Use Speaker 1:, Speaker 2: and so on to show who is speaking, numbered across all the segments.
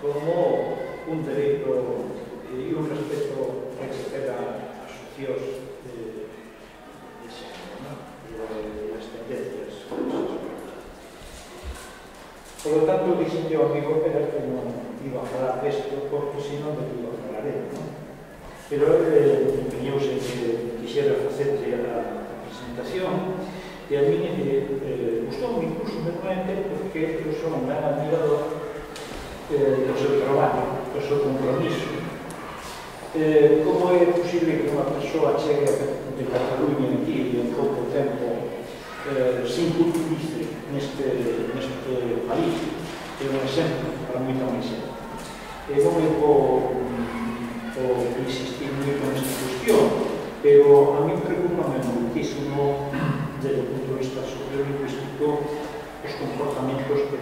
Speaker 1: como un dereito e un respeto que se pega as opcións de xénero e das tendencias. Por lo tanto, dixen que o amigo era que non iba a falar desto, porque senón de que iba a falar él, pero empeñouse en que quixera facerse a presentación, e a mí gustou incluso menamente porque eu son un gran admirador do seu traballo, do seu compromiso. Como é posible que unha persoa chegue de Cataluña aquí en pouco tempo sin culturice neste país? É un exemplo para moita máis xente. Non me vou insistir moito nesta cuestión, pero a mí preocupa muitísimo desde o punto de vista sociolingüístico os comportamentos que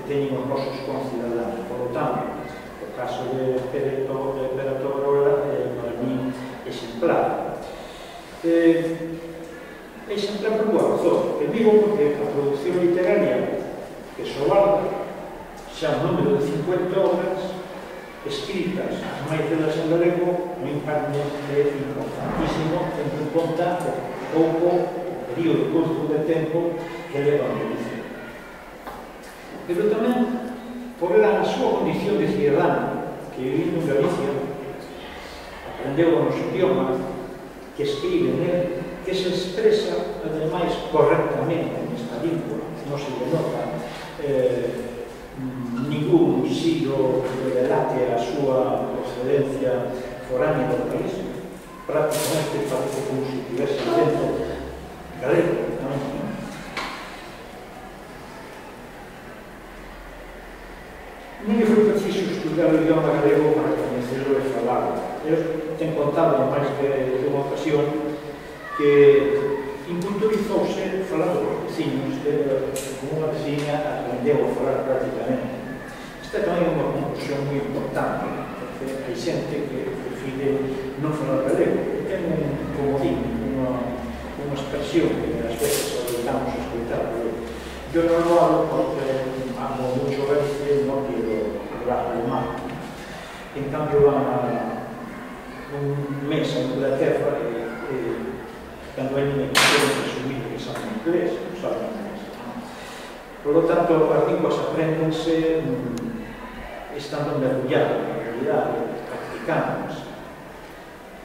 Speaker 1: teñen os nosos concidadáns. Por lo tanto, o caso de Pere Tobarola para mí exemplar. Exemplar por boa razón. Digo porque a produción literaria que sobarda xa un número de 50 obras escritas, as máis delas en galego, no impacto é importantísimo, tendo en conta o período curto de tempo que leva a produción. Pero tamén, por a súa condición de cidadano, que vivindo en Galicia, aprendeu o noso idioma, que escribe nel, que se expresa, ademais, correctamente nesta lingua, non se denota ningún siglo que relate a súa procedencia foránea do país, prácticamente parece como se tivese acento galego. Non me foi preciso estudar o idioma galego para coñecerlo e falarlo. Eu ten contado máis de unha ocasión que inculturizouse falando dos veciños, como unha veciña aprendeu a falar prácticamente. Esta tamén é unha conclusión moi importante, porque hai xente que prefire non falar galego, que ten un comodín, unha expresión que ás veces obrigamos a escoitar. Eu non lo hablo porque amo mucho verse, non quiero hablar alemán. En cambio, van un mes a Inglaterra e cando hai me quixeron presumir que saben inglés, non saben inglés. Por lo tanto, as linguas aprendense estando mergulladas na realidade, practicándolas.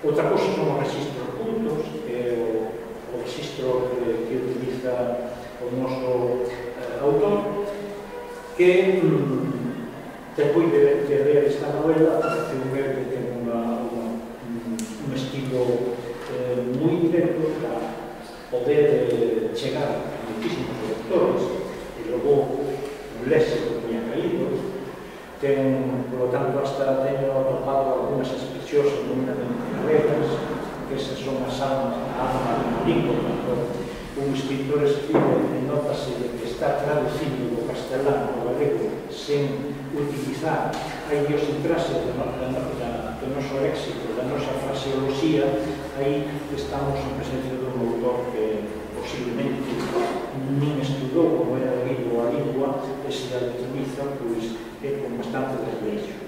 Speaker 1: Outra cosa son os registros cultos, que é o registro que utiliza o noso autor, que depois de ler esta novela parece un ver que ten un estilo moi directo para poder chegar a muchísimos lectores e logo un léxico moi acaído. Ten, por lo tanto, hasta teño atopado algunhas expresións eminentemente galegas, que esas son as almas da lingua. Un escritor escribe e notase de que está traducindo do castelán ao galego sen utilizar a idiosincrasia do noso léxico, da nosa fraseoloxía. Aí estamos en presencia dun autor que posiblemente nin estudou como era debido a lingua e se a utiliza, pois é con bastante desleixo.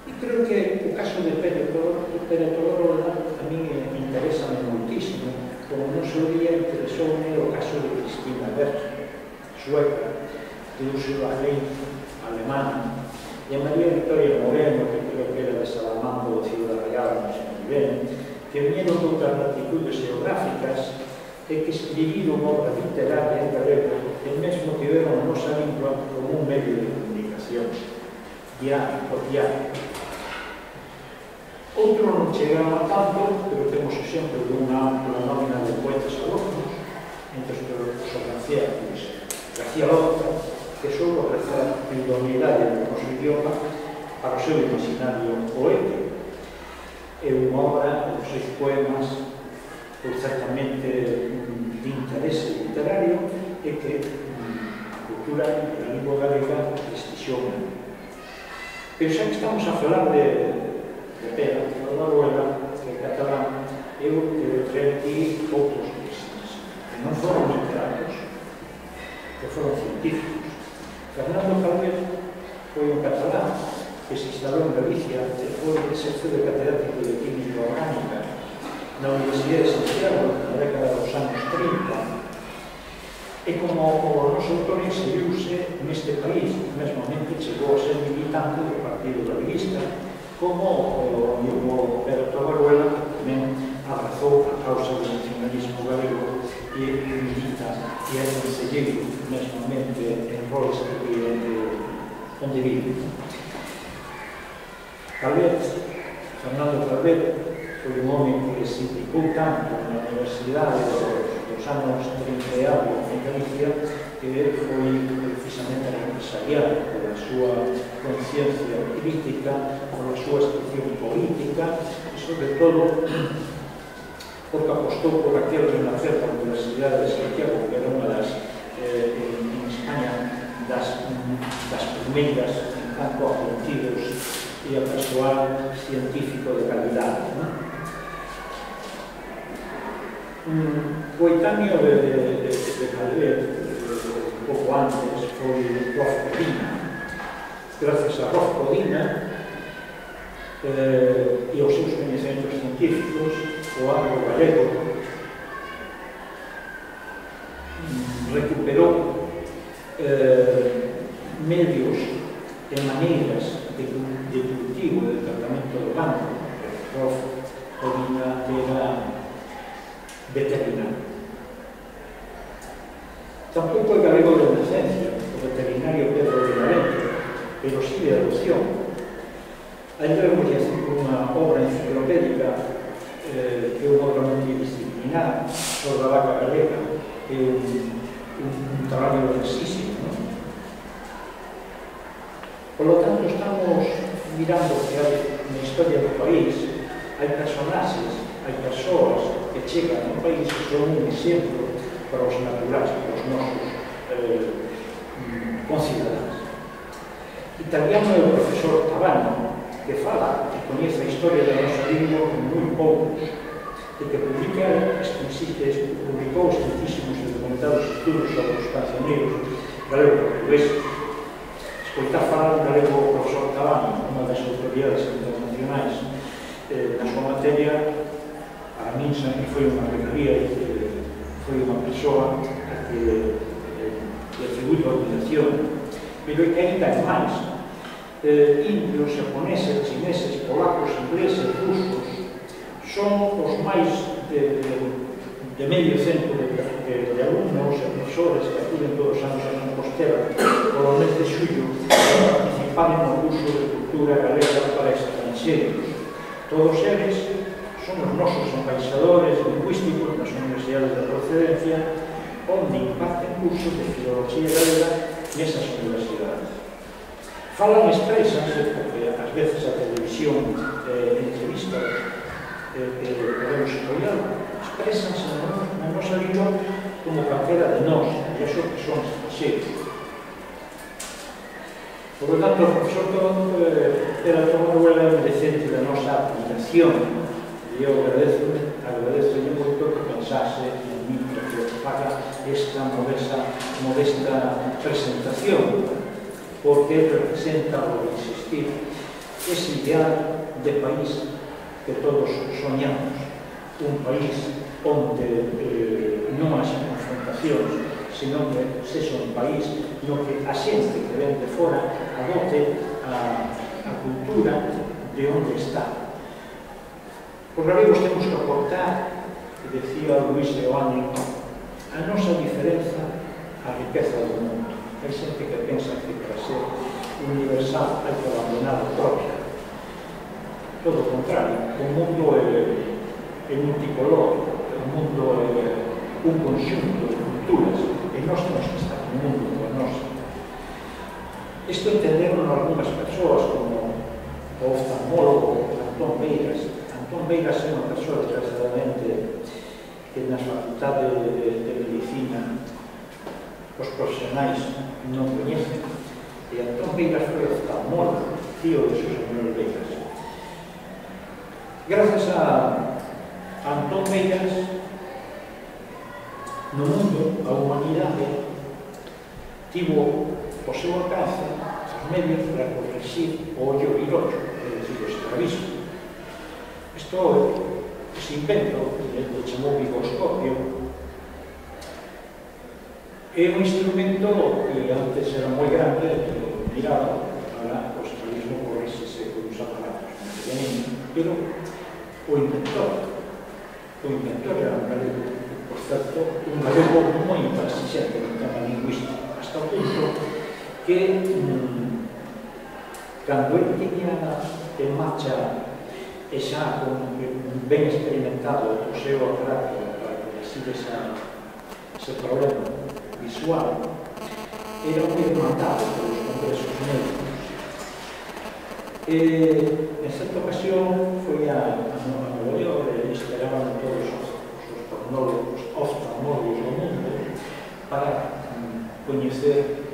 Speaker 1: E creo que o caso de Pere Tobarola a mí interesa moitísimo, como non se oía, interesoume o caso de Cristina Berger, sueca, de uso da lei alemana, e a María Victoria Moreno, que creo que era de Salamanca ou Ciudad Real, non sei moi ben, que viñeron de outras latitudes geográficas e que escribiron obra literaria en galego e mesmo tiveron a nosa lingua como un medio de comunicación diario, por diario. Outro non chegaron a tanto, pero temos exemplo de unha ampla nómina de poetas alóctonos, entre os García Lorca, que só ofrecer a idoneidade do noso idioma para o seu imaginario poético. É unha obra dos 6 poemas certamente de interese literario e que a cultura e a lingua galega prestixiona. Pero xa que estamos a falar de Pere Tobarola, que é catalán, eu traio aquí outros textos que non foron literatos, que foron científicos. Fernando Calvet foi un catalán que se instalou en Galicia e foi de catedrático de química orgánica na Universidade de Santiago na década dos anos 30 e como o noso autor inseriuse neste país, mesmamente chegou a ser militante do Partido Galeguista, como o amigo Pedro Tobaruela, que tamén abrazou a causa do nacionalismo galego e milita e é conselleiro mesmamente en roles onde vive. Calvet, Fernando Calvet, foi un home que se implicou tanto na Universidade dos anos 30 en Galicia que foi precisamente empresarial pola súa conciencia crítica, pola súa expresión política e, sobre todo, porque apostou por aquel renacer da Universidade de Santiago, que era unha das, en España, das primeiras en campo a científicos e a persoal científico de calidade. Coetáneo de Calvet, pouco antes, foi Rof Codina. Gracias a Rof Codina e aos seus coñecementos científicos, o agro galego recuperou medios e maneiras de cultivo e de tratamento do campo. Rof Codina era veterinario. Tampouco é galego de nacencia, o veterinario Pedro de Valente, pero sí de adopción. Aí vemos unha obra enciclopédica que é unha obra multidisciplinar sobre a vaca galega, que é un traballo densísimo. Por lo tanto, estamos mirando que hai na historia do país, hai personaxes, hai persoas que chegan ao país que son un exemplo para os naturais, para os nosos concidadáns. Italiano é o profesor Tabano, que fala, que coñece a historia da nosa lingua con moi poucos, e que publicou extensísimos e documentados estudos sobre os cancioneiros galego-portugueses. Escoitar falar en galego o profesor Tabano, unha das autoridades internacionais na súa materia, para min sempre foi unha regalía, foi unha persoa a que atribuído a admiración, pero é que ainda é máis. Indios, japoneses, chineses, polacos, ingleses, rusos son os máis de medio cento de alumnos e profesores que acuden todos os anos a Compostela polo mes de xullo para participar no curso de cultura galega para estranxeiros. Todos eles son os nosos embaixadores lingüísticos nas universidades de procedencia, onde imparten cursos de filoloxía galega nesas universidades. Falan, expresanse, porque ás veces a televisión entrevistas que podemos apoiar, expresanse na nosa lingua como calquera de nós, e iso que son estranxeiros. Por lo tanto, o profesor era Tobaruela merecente da nosa admiración, e eu agradezo moito que pensase en mí para que faga esta modesta presentación, porque representa, por insistir, ese ideal de país que todos soñamos, un país onde non haxa confrontacións, senón que sexa un país no que a xente que ven de fora adote a cultura de onde está. Os galegos temos que aportar, que decía Luis Eoane, a nosa diferenza á riqueza do mundo. Hai xente que pensa que para ser universal hai que abandonar o propio. Todo o contrario, o mundo é multicolor, o mundo é un conxunto de culturas, e nós temos que estar no mundo como nós. Isto entenderon algunhas persoas como o oftalmólogo Antón Beiras. Antón Beiras é unha persoa, desgraciadamente, que na facultade de medicina os profesionais non coñecen, e Antón Beiras foi oftalmólogo, tío de Xosé Manuel Beiras. Grazas a Antón Beiras, no mundo, a humanidade tivo o seu alcance os medios para corregir o ollo virocho, é dicir, o estrabismo. Ese invento, que chamou bigoscopio, é un instrumento que antes era moi grande, que miraba, ahora o estrabismo corrixese con uns aparatos moi pequeninos, pero o inventor era un galego, por certo, un galego moi intransigente no tema lingüístico, hasta o punto que cando ele tiña en marcha e xa ben experimentado o seu aparato para corregir ese problema visual, era moi demandado pelos congresos médicos. En certa ocasión foi a Nova York e esperaban todos os oftalmólogos do mundo para coñecer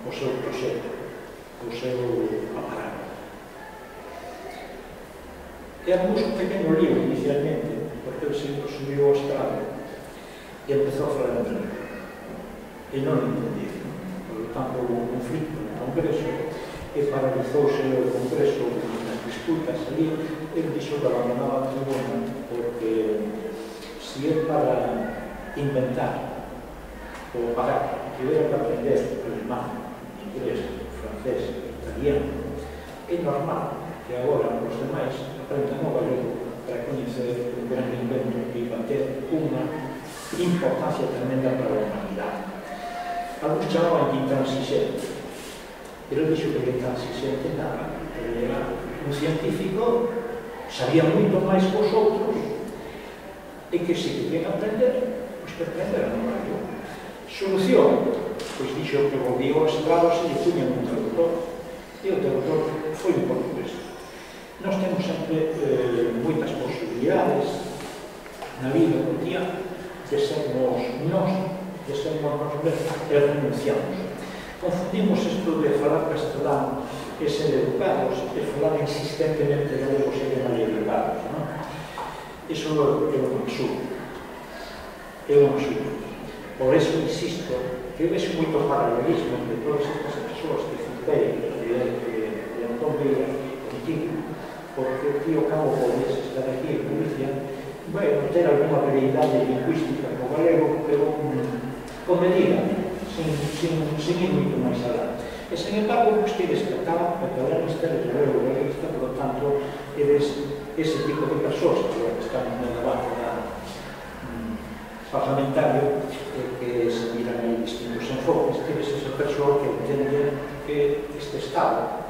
Speaker 1: o seu proxecto, o seu aparato. Era un pequeno lío inicialmente, porque ele se subiu ao estrado e empezou a falar en inglés. E non o entendía. Por lo tanto, houve un conflito no Congreso e paralizouse o Congreso nas disputas ali. Ele dixo que abandonaba a tribuna porque se é para inventar ou para que hubiera que aprender alemán, inglés, francés, italiano, é normal que agora os demais aprendan o galego para coñecer un gran invento que iba a ter unha importancia tremenda para a humanidade. Alguns chamaban de intransigente, pero dixo que intransigente nada, porque era un científico, sabía moito máis que os outros, e que se querían aprender, pois que aprenderan o galego. Solución, pois dixo que volvía ao estrado se lle puñan un traductor, e o traductor foi en portugués. Nós temos sempre moitas posibilidades na vida cotidiana de sermos nós mesmos e renunciamos. Confundimos isto de falar castelán e ser educados e falar insistentemente galego e ser mal educados, non? Iso é un absurdo. É un absurdo. Por eso insisto que vexo moito paralelismo entre todas estas persoas que citei de Antón Villa contigo, porque o tío Cabo podías estar aquí en Galicia, vai ter alguna habilidade lingüística co galego, pero con medida, sin ir moito máis alá. E, sen embargo, vos tedes que acá, catalanistas, galegista, por lo tanto, eres ese tipo de persoas que estamos no debate parlamentario, que se miran aí distintos enfoques, tedes esa persoa que entende que este Estado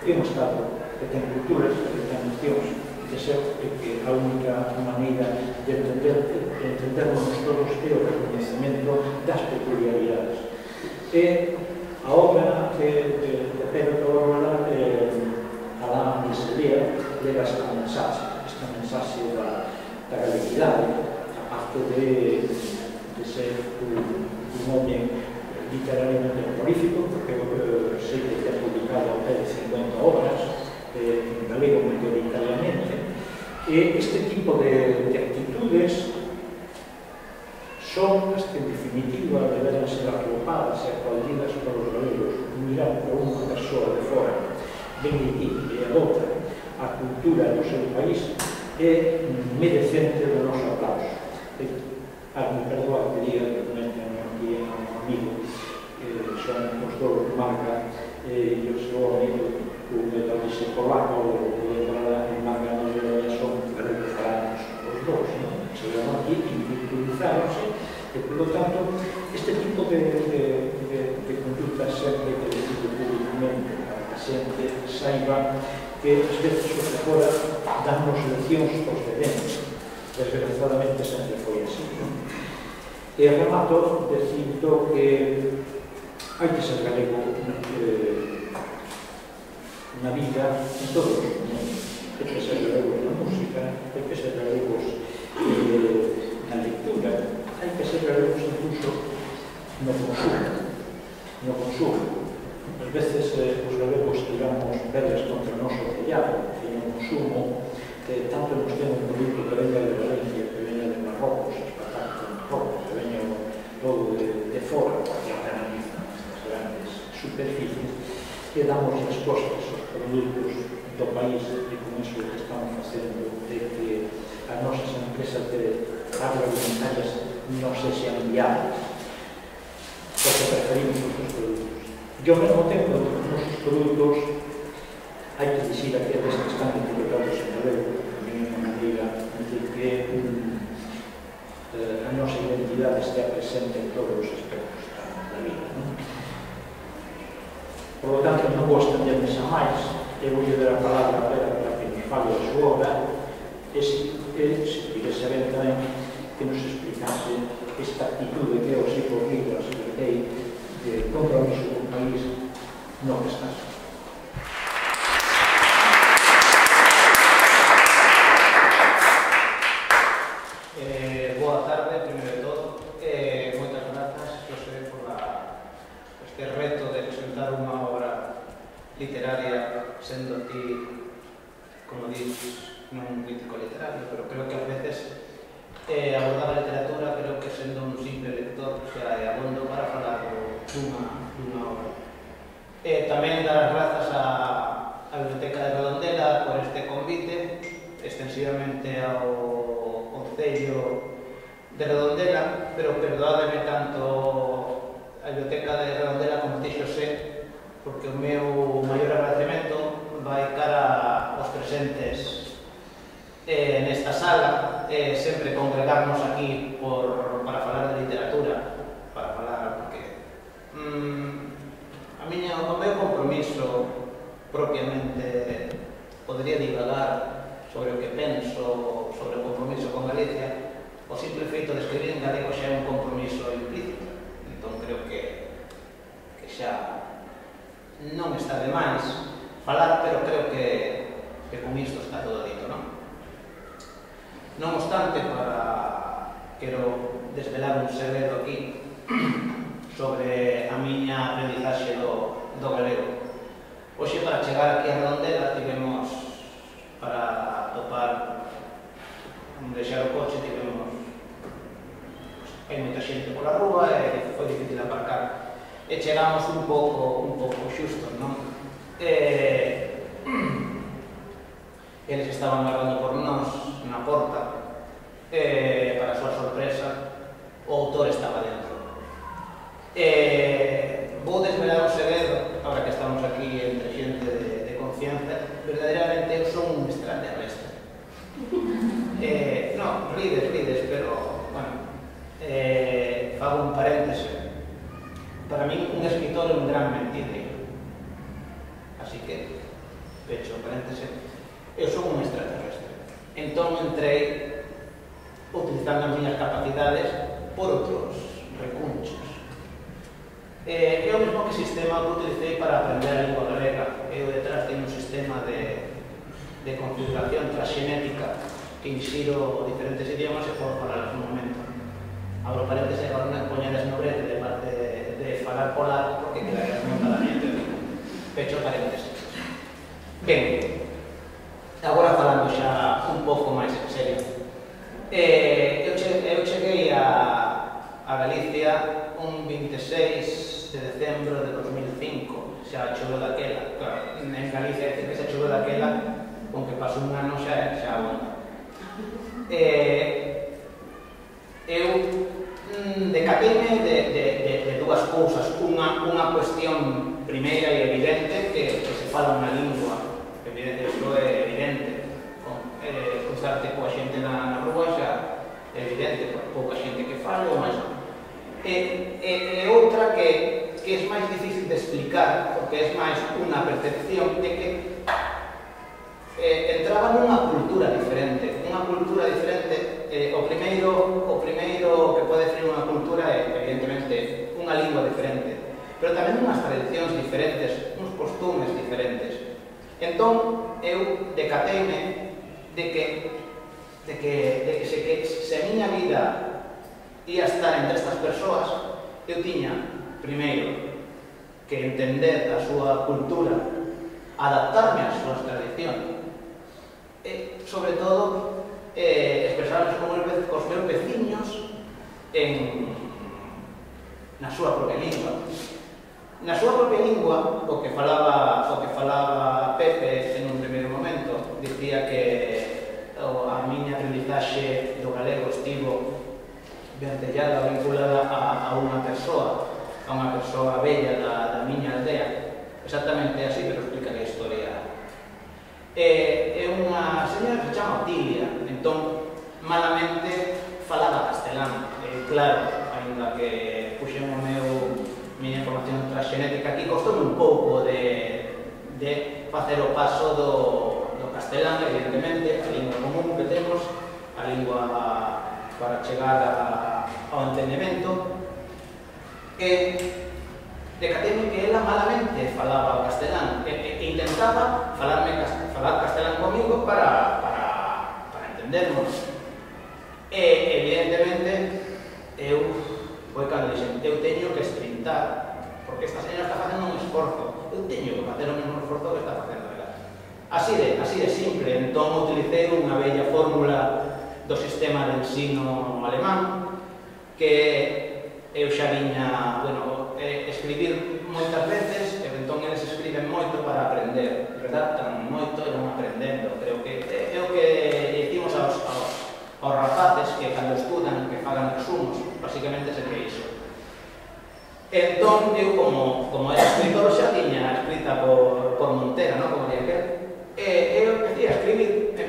Speaker 1: é un Estado que ten culturas, que ten nocións de ser, que a única maneira de entendernos todos é o reconhecimento das peculiaridades. E a obra de Pedro Torrola, alá de Sevilla, leva esta mensaxe da galeguidade, aparte de ser un home literariamente prolífico, porque sei que ten publicado ao pé de 50 obras en galego mayoritariamente, e este tipo de actitudes son as que en definitiva deberán ser arropadas e aplaudidas por os galegos. Mirar por unha persoa de fora ven aquí e adopta a cultura do seu país é merecente do noso aplauso. Me perdoa que diga que comentan aquí a un amigo que son os dous de marca e o seu amigo un metalista polaco que entrará en marca no son galegos falanos os dous, se van aquí inculturizáronse e, por lo tanto, este tipo de conducta sempre que decido públicamente para que a xente saiba que as veces o que fora dannos leccións os de dentro. Desgraciadamente sempre foi así. E remato dicindo que hai que ser galego na vida en todos os momentos. Hai que ser galegos na música, hai que ser galegos na lectura, hai que ser galegos incluso no consumo. As veces os galegos tiramos velas contra o noso tellado e no consumo tanto nos temos un produto que venga de Valencia, que venga de Marrocos, as patatas de Marrocos, que venga todo de fora, porque a canaliza superficies e damos respostas aos produtos do país e con iso que estamos facendo de que as nosas empresas agroalimentarias non sexan viables, porque preferimos os nosos produtos. E ao mesmo tempo, os nosos produtos, hai que dicir a aqueles que están etiquetados en galego, tamén é unha maneira de que a nosa identidade estea presente en todos os aspectos da vida. Por lo tanto, non vou estenderme xa máis, eu vou dar a palabra a Vera para que nos fale a súa obra e se queres saber tamén que nos explicase esta actitude que é o ciclo agrícola, de compromiso con o país no que estás.
Speaker 2: Boa tarde, primeiro de todo. Moitas grazas, José, por este reto de presentar unha obra literaria, sendo ti, como dices, non un crítico literario, pero creo que a veces abordar a literatura, creo que sendo un simple lector, xa é abondo para falar dunha obra. Tamén dar as grazas á Biblioteca de Redondela por este convite, extensivamente ao Concello de Redondela, pero perdoádeme tanto a Biblioteca de Redondela como ti, Xosé, porque o meu maior agradecemento vai cara aos presentes nesta sala, sempre congregarnos aquí para falar de literatura, para falar, porque o meu compromiso propiamente podría divagar sobre o que penso sobre o compromiso con Galicia. O simple feito de escribir en galego xa é un compromiso implícito, entón creo que xa non está de máis falar, pero creo que con isto está todo dito, non? Non obstante, quero desvelar un segredo aquí sobre a miña aprendizaxe do galego. Hoxe, para chegar aquí a Redondela, tivemos, para topar, deixar o coche, hai moita xente pola rúa e foi difícil aparcar. E chegamos un pouco xustos, non? Eles estaban agardando por nós na porta, para a súa sorpresa, o autor estaba dentro. Vou desvelar un segredo, agora que estamos aquí entre xente de confianza, verdadeiramente eu son un extraterrestre. Non, rides, pero, bueno, fago un paréntese. Para mí, un escritor é un gran mentireiro. Así que, pecho o paréntese, eu son un extraterrestre. Entón, entrei utilizando as miñas capacidades por outros recunchos. É o mesmo que sistema que utilicei para aprender a lingua galega. Eu detrás teño un sistema de configuración transxenética que insiro diferentes idiomas e podo falar no momento. Abro paréntesis, agora non poñedes no brete de parte de falar polaco porque quedarías montadamente. Pecho paréntesis. Ben, agora falando xa un pouco máis en serio. Eu cheguei a Galicia un 26 de decembro de 2005, xa choveu daquela. Claro, en Galicia decir que xa choveu daquela, con que pasou un ano xa bueno. Eu decateime de dúas cousas. Unha cuestión primeira e evidente, que se fala unha lingua. Iso é evidente. Cruzarte coa xente na rúa xa é evidente, pouca xente que fale ou máis. E outra que é máis difícil de explicar, porque é máis unha percepción de que entraba nunha cultura diferente. O primeiro que pode definir unha cultura é, evidentemente, unha lingua diferente, pero tamén unhas tradicións diferentes, uns costumes diferentes. Entón, eu decateime de que se a miña vida ia estar entre estas persoas, eu tiña, primeiro, que entender a súa cultura, adaptarme ás súas tradicións, e, sobre todo, expresarnos cos meus veciños na súa propia lingua. na súa propia lingua, o que falaba Pepe en un primeiro momento, dicía que a miña aprendizaxe do galego estivo vencellada, vinculada a unha persoa bella da miña aldea. Exactamente así, pero explica a historia. É unha señora que se chama Otilia, entón malamente falaba castelán. Claro, ainda que puxen miña información transxenética aquí, costoume un pouco de facer o paso do castelán, evidentemente, a lingua común que temos, a lingua para chegar ao entendemento, e decateime que ela malamente falaba o castelán e intentaba falar castelán comigo para entendernos. E, evidentemente, foi cando dixen, eu teño que esprintar, porque esta señora está facendo un esforzo, eu teño que facer o mesmo esforzo que está facendo ela. Así de simple, entón utilicei unha bella fórmula do sistema de ensino alemán, que eu xa viña, escribir moitas veces, e entón eles escriben moito para aprender, redactan moito e non aprendendo. Creo que é o que dicimos aos rapaces que cando estudan, que fagan resumos, basicamente se que iso. Entón, eu como era escritor xa tiña escrita por Montera, non? Como día que eu empecé a escribir,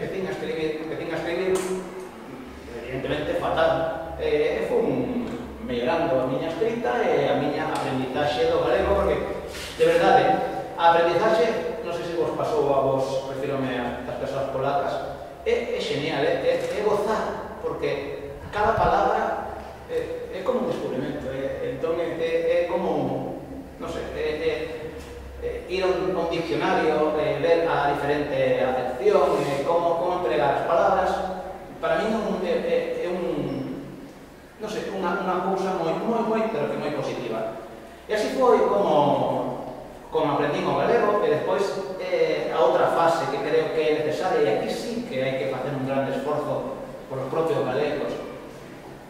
Speaker 2: evidentemente fatal. E fui mellorando a miña escrita e a miña aprendizaxe do galego, porque, de verdade, a aprendizaxe, non sei se vos pasou a vos, refírome a estas persoas polacas, é genial, é gozar, porque cada palabra é como un descubrimento, entón é como, non sei, ir a un diccionario, ver a diferente acepción, como empregar as palabras. Para mí é non sei, unha cousa moi, pero que moi positiva. E así foi como aprendín o galego, e despois a outra fase que creo que é necesaria, e aquí sí que hai que facer un grande esforzo por os propios galegos,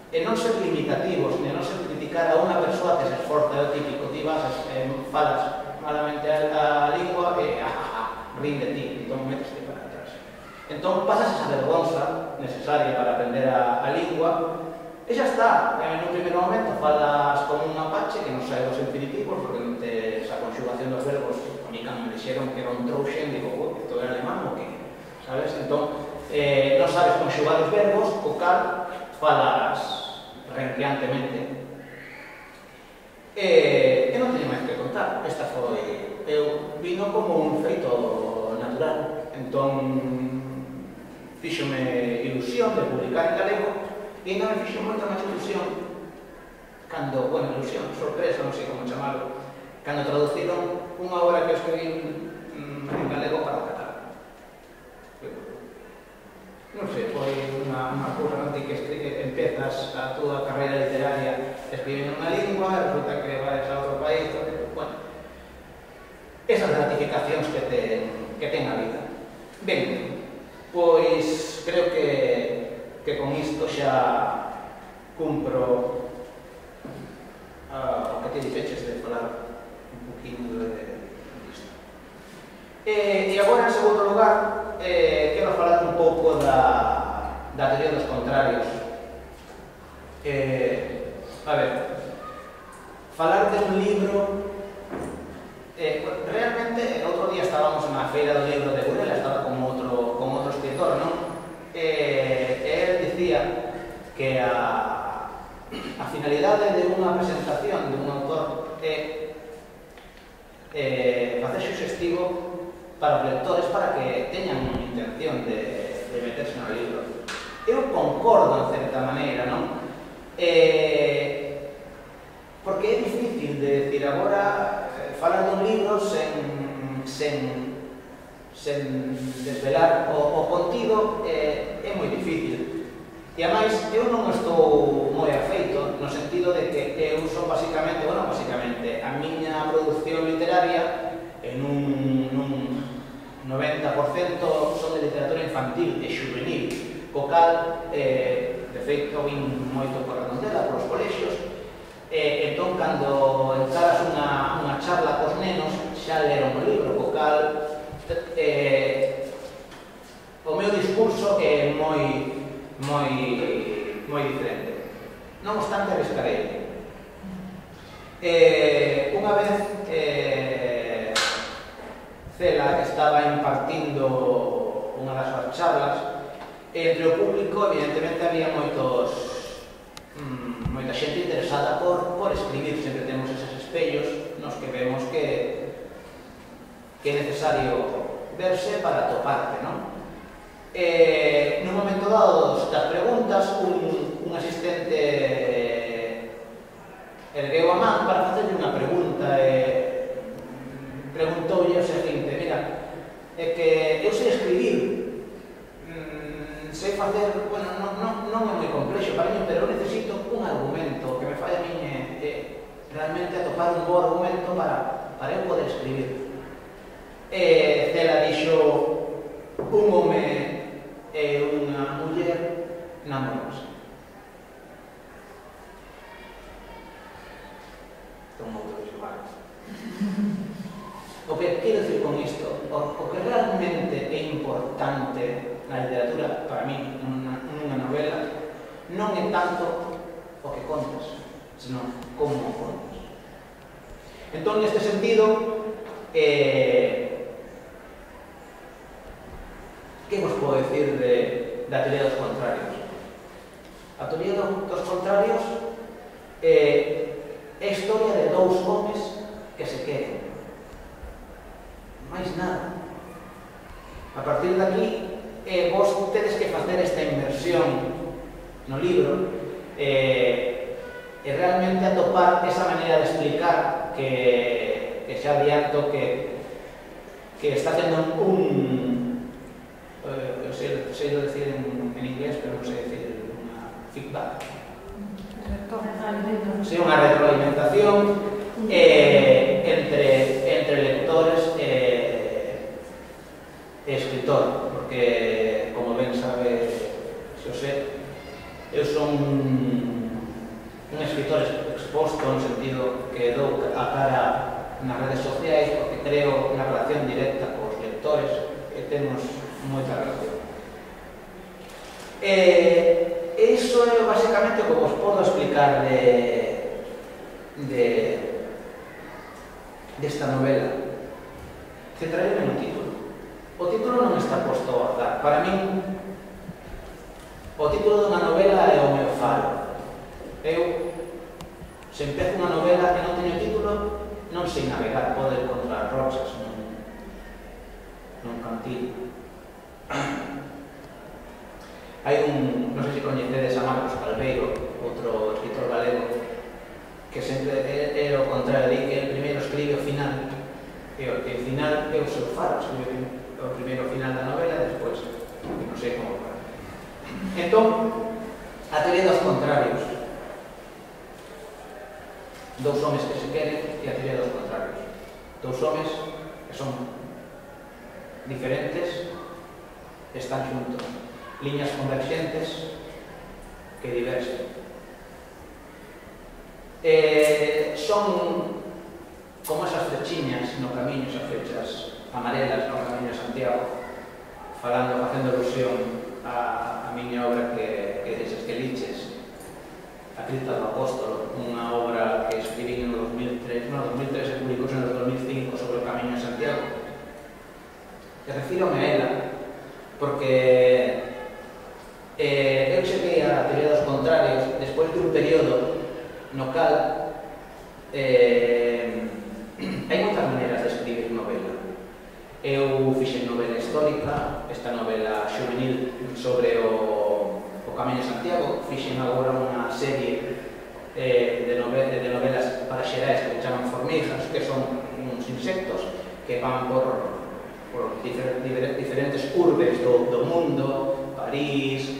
Speaker 2: e non ser limitativos, e non ser criticar a unha persoa que se esforza, é o típico, ti vas, falas malamente a lingua e rin de ti, entón metes para atrás. Entón pasas esa vergonza necesaria para aprender a lingua, e xa está. En un primeiro momento falas como un apache que non sabe os infinitivos, porque non tes a conxugación dos verbos. A mí cando me dixeron que era un trouxen, digo, isto é alemán ou que? Sabes? Entón, non sabes conxugar os verbos, o cal falas renqueantemente. E non teño máis que contar. Esta foi... Eu vino como un feito natural. Entón, fíxome ilusión de publicar en galego, e ainda me fixo moita máis ilusión cando, ilusión, sorpresa, non sei como chamarlo, cando traduciron unha obra que eu escribí en galego para o catalán. Non sei, foi unha cousa, non ti que empezas a túa carreira literaria escribindo unha lingua, e resulta que vais a outro país, esas gratificacións que ten a vida. Ben, pois creo que con isto xa cumpro o que te dixeches de falar un poquinho disto. E agora, en segundo lugar, quero falar un pouco da teoría dos contrarios. A ver, falar de un libro... realmente, outro día estábamos na feira do libro de Burela, estaba con outro escritor, non? Él dicía que a finalidade de unha presentación de un autor é facer suxestivo para os lectores para que teñan unha intención de meterse no libro. Eu concordo en certa maneira, non? Porque é difícil de decir agora falar dun libro sen desvelar o contido é moi difícil. E, ademais, eu non estou moi afeito no sentido de que eu son basicamente, a miña produción literaria en un 90% son de literatura infantil e juvenil, co cal, de feito, vin moito por Redondela, polos colexios, entón, cando encaras unha charla leron o libro, co cal o meu discurso é moi diferente. Non obstante, arriscarei. Unha vez Cela estaba impartindo unha das súas charlas, entre o público evidentemente había moita xente interesada por escribir. Sempre temos eses espellos nos que vemos que é necesario verse para atoparte, non? Nun momento dado das preguntas, un asistente ergueu a man para facerle unha pregunta e preguntoulle o seguinte: mira, é que eu sei escribir, sei facer, bueno, non é moi complexo para mí, pero necesito un argumento que me fai a min realmente atopar un bo argumento para eu poder escribir. Cela dixo: un home e unha muller namorándose. Son moito visual. O que quero dicir con isto, o que realmente é importante na literatura, para mí, nunha novela, non é tanto o que contas, senón como o contas. Entón, neste sentido, que vos podo dicir da teoría dos contrarios? A teoría dos contrarios é a historia de dous homes que se queren. Máis nada. A partir de aquí, vos tedes que facer esta inmersión no libro e realmente atopar esa maneira de explicar que xa adianto que está tendo sei decir en inglés, pero non sei decir unha feedback. Sí, unha retroalimentación entre lectores e escritor, porque, como ben sabe Xosé, eu son un escritor exposto no sentido que dou a cara nas redes sociais, porque creo unha relación directa cos lectores e temos moita relación. Iso é basicamente o que vos podo explicar desta novela. Centrarei no título. O título non está posto ao azar. Para min, o título dunha novela é o meu faro. Eu, se empezo unha novela e non teño título, non sei navegar, podo encontrar rochas nun cantil. Hai non sei se coñecedes a Marcos Calveiro, outro escritor galego, que sempre é o contrario, di que el primeiro escribe o final, e o final é o seu faro, escribe o primeiro final da novela, e despois, non sei como fara. Entón, a teoría dos contrarios. Dous homes que se queren e a teoría dos contrarios. Dous homes que son diferentes, están xuntos. Liñas convergentes que diversen. Son como esas flechiñas no camiño, esas flechas amarelas no camiño de Santiago, facendo alusión a miña obra que deses que liches, A Cripta do Apóstolo, unha obra que escribí no 2003, se publicou no 2005 sobre o camiño de Santiago. E refírome a ela porque eu cheguei a teoría dos contrarios despois de un período no cal hai moitas maneiras de escribir novela. Eu fixen novela histórica, esta novela xuvenil sobre o Camiño de Santiago, fixen agora unha serie de novelas para xerais que se chaman formigas, que son uns insectos que van por diferentes urbes do mundo, París,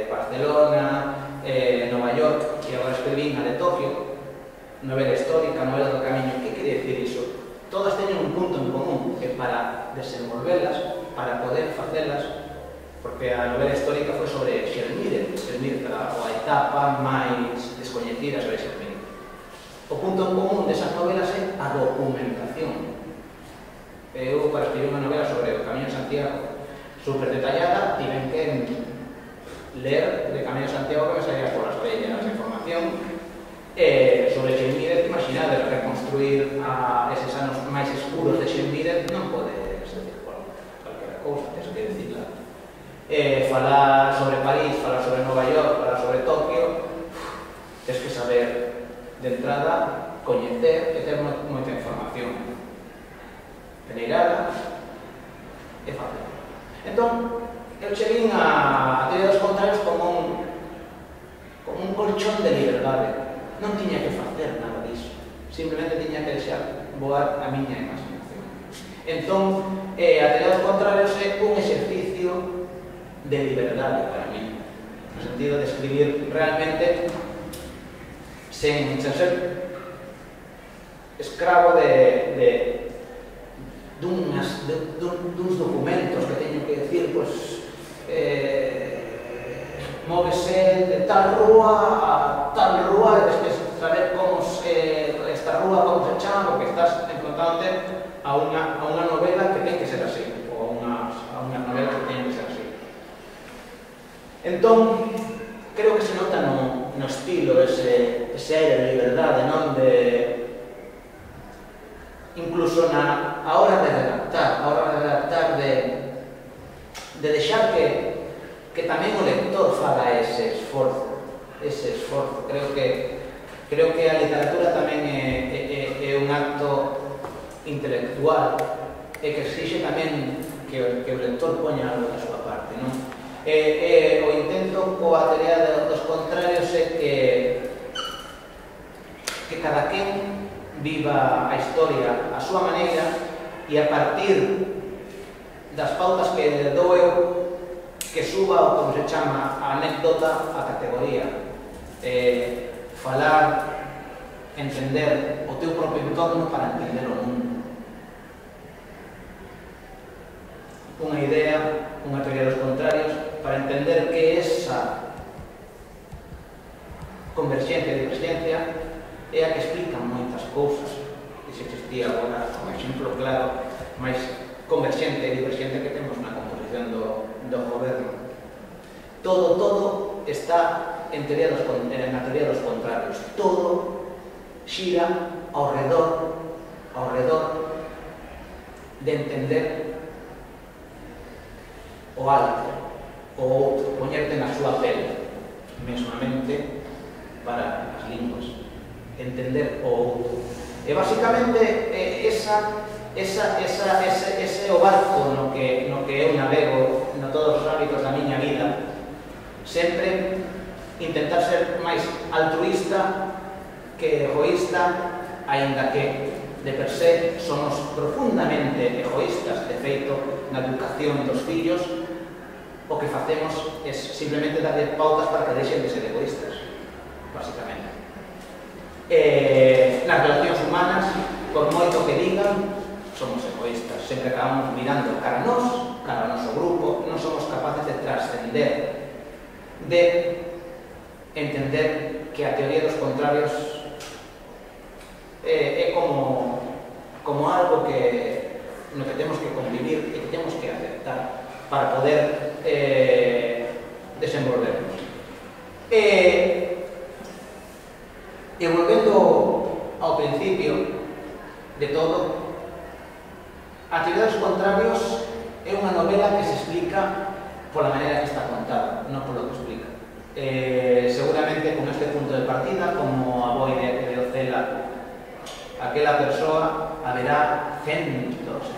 Speaker 2: Barcelona, Nova York, e agora escribín a de Tokio, novela histórica, novela do Camiño. Que quere dicir iso? Todas teñen un punto en común, que para desenvolvelas, para poder facelas, porque a novela histórica foi sobre Xelmírez, a etapa máis descoñecida sobre Xelmírez. O punto en común desas novelas é a documentación. Eu, para escribir unha novela sobre o Camiño de Santiago super detallada, tiven que ler de Camiño de Santiago que me salía por as orellas a información sobre Xenmírez. Imaginade, reconstruir eses anos máis escuros de Xenmírez non pode ser calquera cousa, tens que decirla. Falar sobre París, falar sobre Nova York, falar sobre Tokio, tens que saber de entrada, coñecer e ter moita información peneirada e fácil. Entón, eu cheguei a teoría dos contrarios como un colchón de liberdade. Non tiña que facer nada disso, simplemente tiña que deixar voar a miña imaginación. Entón, a teoría dos contrarios é un exercicio de liberdade para mí, no sentido de escribir realmente sen ser escravo duns documentos que teño que decir, pois, móvese de tal rúa a tal rúa, e tens que saber como esta rúa, como se chama, porque estás enfrontándote a unha novela que ten que ser así, ou a unha novela que ten que ser así. Entón, creo que se nota no estilo ese aire de liberdade, non? Incluso a hora de redactar, de deixar que tamén o lector faga ese esforzo. Creo que a literatura tamén é un acto intelectual e que exixe tamén que o lector poña algo da súa parte, non? O intento coa teoría dos contrarios é que cada quen viva a historia a súa maneira e a partir das pautas que dou eu, que suba o como se chama a anécdota a categoría, falar, entender o teu propio entorno para entender o mundo. Unha idea, unha teoría dos contrarios para entender que esa converxencia e divergencia é a que explican moitas cousas. E se existía agora un exemplo claro máis converxente e divergente que temos na composición do goberno. Todo está na teoría dos contrarios. Todo xira ao redor de entender o alto, o outro, poñerte na súa pele, mesmamente para as linguas. Entender o outro. E basicamente ese é o barco no que eu navego en todos os ámbitos da miña vida. Sempre intentar ser máis altruista que egoísta, aínda que de per se somos profundamente egoístas. De feito, na educación dos fillos o que facemos é simplemente darle pautas para que deixen de ser egoístas, basicamente. Nas relacións humanas, por moito que digan, somos egoístas. Sempre acabamos mirando cara a nós, cara ao noso grupo, non somos capaces de trascender, de entender que a teoría dos contrarios é como algo no que temos que convivir e que temos que aceptar para poder desenvolvernos. E volvendo ao principio de todo, a teoría dos contrarios é unha novela que se explica pola maneira que está contada, non polo que explica. Seguramente con este punto de partida, como a boi de Ocela, aquela persoa, haberá centos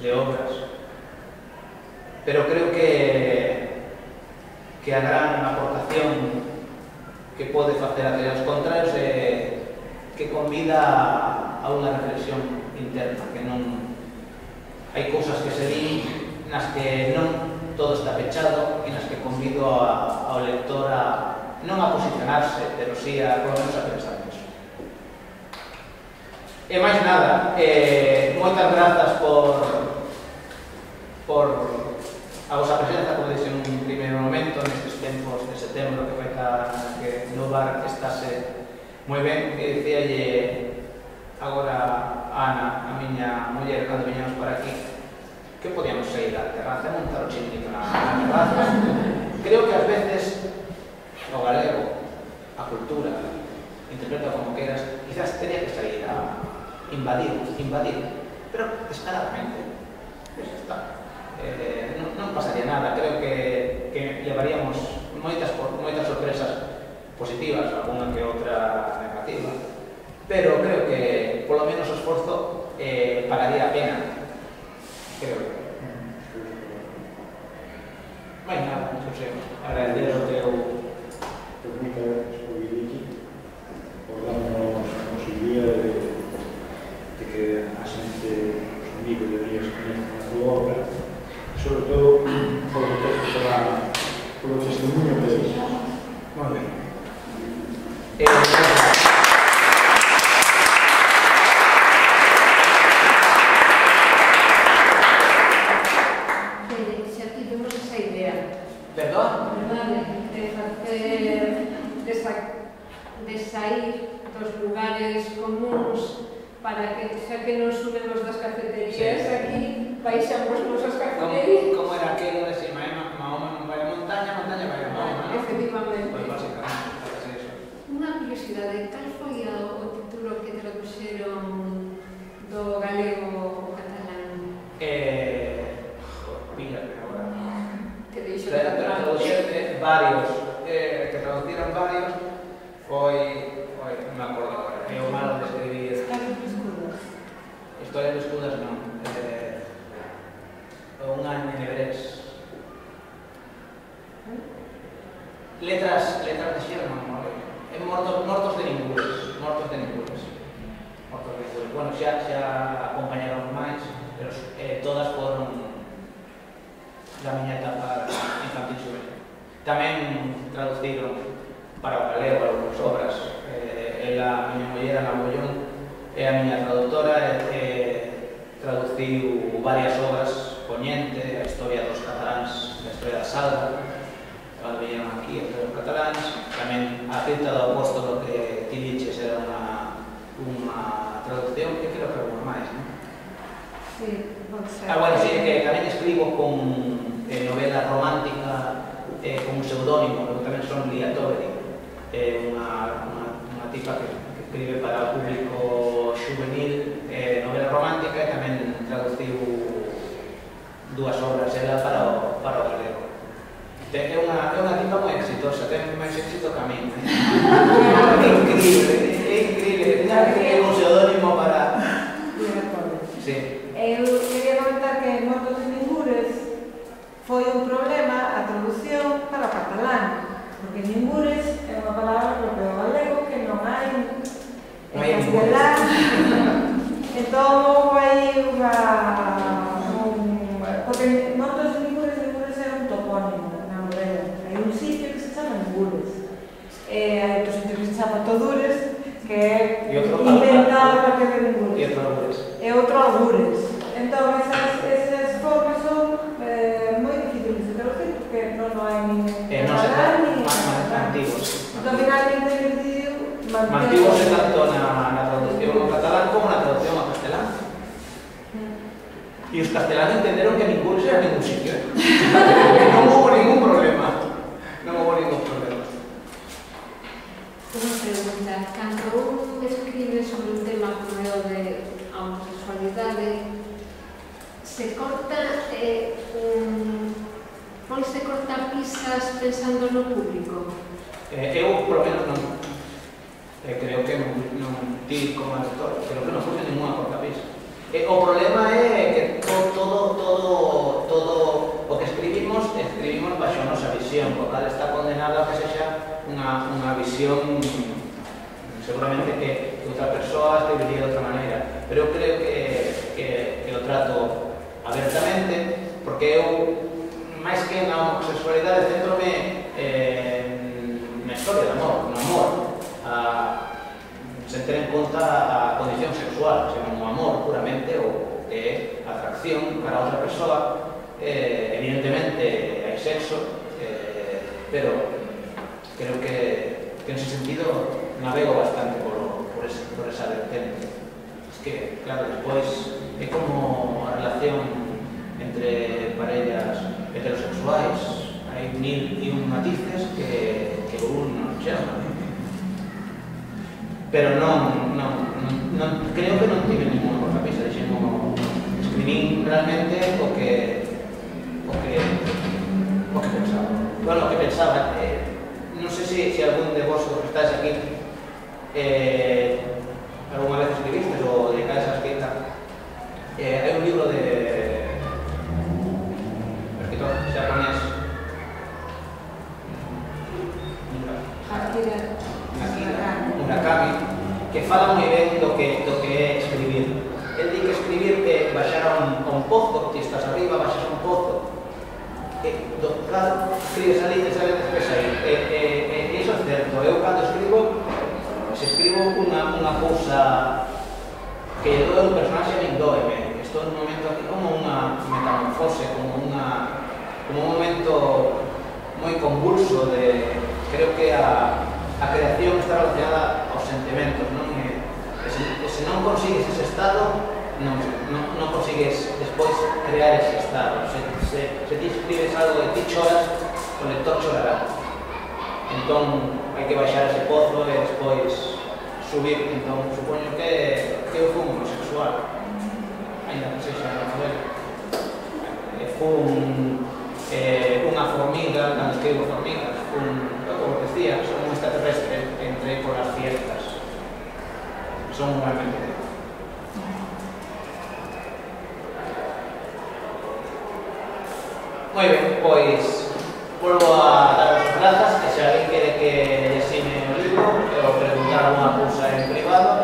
Speaker 2: de obras. Pero creo que a gran aportación que pode facer a teoría dos contrarios é que convida a unha reflexión interna, que non hai cousas que se din nas que non todo está pechado e nas que convido ao lector non a posicionarse, pero sí a por lo menos a pensar nisso. E máis nada, moitas grazas por a vosa presenza, como dixen nun primeiro momento, nestes tempos de setembro que vai que no bar estase moi ben. E dicíalle agora a Ana, a miña muller, cando viñamos para aquí, que podíamos sair á terraza e montar o chiringuito na terraza. Creo que ás veces o galego, a cultura, interpreta como queras, quizás tenía que sair a invadir, pero descaradamente. Pues está. Non pasaría nada. Creo que llevaríamos moitas sorpresas positivas, alguna que outra negativa, pero creo que polo menos o esforzo pagaría a pena. Creo que non hai nada, José, agradecer o teu.
Speaker 1: Moitas gracias por vir aquí, por darnos a posibilidade de que a xente, os amigos e amigas conozcan a tua obra, sobre todo polo testemunho que deixas.
Speaker 2: Moi ben.
Speaker 3: Xa tivemos esa idea.
Speaker 2: Perdón?
Speaker 3: De sair dos lugares comuns para que, xa que non subemos das cafeterías aquí, baixamos nosas cafeterías.
Speaker 2: Como era aquilo de si Mahoma non vai a montaña, montaña vai a Mahoma, non?
Speaker 3: Efectivamente.
Speaker 2: Pois basicamente, parece eso.
Speaker 3: Unha curiosidade, cal foi o título que traduxeron do galego ao catalán?
Speaker 2: Píllame agora.
Speaker 3: Que deixo
Speaker 2: Traduxeron varios, que traduciron varios, foi, non me acordo agora, é o malo de escribir. Historia de escudas non, unha en hebrés. Letras de Sherman, mortos de ningures. Bueno, xa acompañaron máis, pero todas foron da miña etapa infantil xuvenil. Tamén traduciron para o galego algunhas obras. A miña muller, Ana Mollón, é a miña traductora, traduciu varias obras, Poñente, a historia dos cataláns, a historia da Salda, cando viñeron aquí, os cataláns. Tamén a Cita do Apóstolo que ti diches era unha traducción, que creo que alguna máis, non?
Speaker 3: Sí, pode ser.
Speaker 2: Bueno, sí, que tamén escribo con novela romántica con un pseudónimo, que tamén son Lía Toveri, unha tipa que escribe para o público juvenil novela romántica, e tamén traduciu dúas obras ela para o galego. É unha tipa moi exitosa, ten máis éxito que a mí. É increíble, é un pseudónimo para... Sí.
Speaker 4: Eu quería comentar que Mortos de Ningures foi un problema a traducción para o catalán, porque Ningures é unha palabra propia do galego que non hai en castelán. Entón, hai porque Mortos de Ningures é un topónimo na novela. Hai un sitio que se chama Ningures. Hai outro sitio que se chama Todures, que é inventado para que de Ningures.
Speaker 2: E
Speaker 4: outro Algures. Entón, esas formas son moi difíciles de traducir, porque non hai nin catalán nin
Speaker 2: antigos.
Speaker 4: Entón, finalmente, decidiu
Speaker 2: Mantivose tanto na traducción ao catalán como na traducción ao castelán. E os castelán entenderon que ningún era ningún sitio. Non hubo ningún problema.
Speaker 3: Unha pregunta, cando un escribe sobre un tema como o de homosexualidade, se corta, ponse cortapisas pensando no público?
Speaker 2: Eu, polo menos, non. Creo que non ti como autor, creo que non puse ninguna cortapisa. O problema é que todo o que escribimos baixo a nosa visión, o cal está condenado a que sexa unha visión seguramente que outra persoa escribiría de outra maneira, pero eu creo que o trato abertamente, porque eu, máis que na homosexualidade, centrome na historia do amor, no amor, sen ter en conta a condición sexual, senón o amor puramente, o que é atracción para outra persoa. Evidentemente hai sexo, pero creo que en ese sentido navego bastante por esa vertente. que, claro, despois é como a relación entre parellas heterosexuais, hai mil e un matices que un non chama. Pero creo que non tive ninguna cosa pisa, escribín realmente o que pensaba. Bueno, o que pensaba, non sei se algún de vos que estáis aquí alguna vez escribiste ou dedicáis a escrita. Hai un libro de escritor japonés Murakami, que fala moi ben do que é escribir. El di que escribir é baixar a un pozo, ti estás arriba, baixas a un pozo, escribes ali e sabes despois aí. E iso é certo. Eu cando escribo, se escribo unha cousa que doe un personaxe, a min doeme. Estou nun momento aquí como unha metamorfose, como un momento moi convulso de... Creo que a creación está relacionada aos sentimentos, non? E se non consigues ese estado, non consigues despois crear ese estado. Se ti escribes algo e ti choras, o lector chorará. Entón, hai que baixar ese pozo e despois subir. Entón, supoño que eu fui un homosexual, ainda que sexa na novela. Fui unha formiga, cando escribo formigas, como decía, son un extraterrestre, entré por as fiestas. Son realmente... Moi ben, pois volvo a dar as grazas, que se alguén quere que lle ensine o libro ou preguntar alguna cousa en privado,